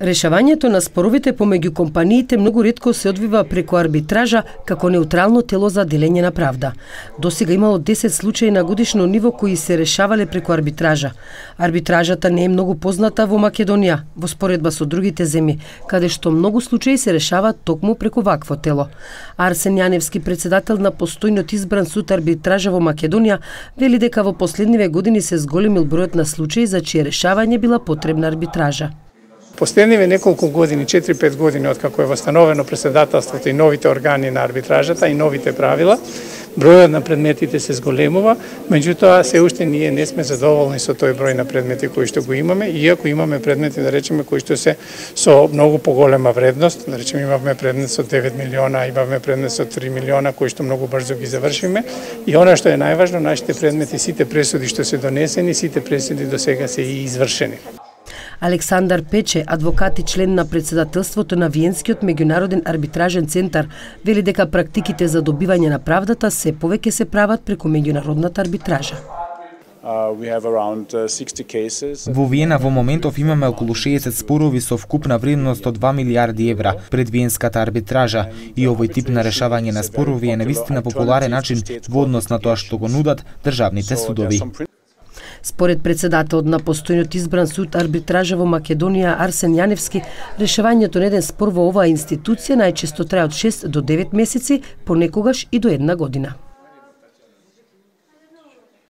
Решавањето на споровите помеѓу компаниите многу ретко се одвива преку арбитража како неутрално тело за делење на правда. Досега имало 10 случаи на годишно ниво кои се решавале преку арбитража. Арбитражата не е многу позната во Македонија, во споредба со другите земји, каде што многу случаи се решаваат токму преку вакво тело. Арсен Јаневски, председател на постојно избран суд арбитража во Македонија, вели дека во последниве години се зголемил бројот на случаи за чие решавање била потребна арбитража. Последниве неколку години, 4-5 години откако е восстановено председателството и новите органи на арбитражата и новите правила, бројот на предметите се зголемува, меѓутоа се уште ние не сме задоволни со тој број на предмети кои што го имаме, иако имаме предмети, да речеме, кои што се со многу поголема вредност, да речеме имавме предмет со 9 милиона, имавме предмет со 3 милиона кои што многу брзо ги завршиме, и она што е најважно, нашите предмети, сите пресуди што се донесени, сите пресуди до сега се и извршени. Александар Пече, адвокат и член на председателството на Виенскиот меѓународен арбитражен центар, вели дека практиките за добивање на правдата се повеќе се прават преку меѓународната арбитража. Во Виена во моментов имаме околу 60 спорови со вкупна вредност од 2 милиарди евра пред Виенската арбитража, и овој тип на решавање на спорови е навистина популарен начин во однос на тоа што го нудат државните судови. Според председателот на постојно избран суд арбитража во Македонија Арсен Јаневски, решавањето на еден спор во оваа институција најчесто трае од 6 до 9 месеци, понекогаш и до 1 година.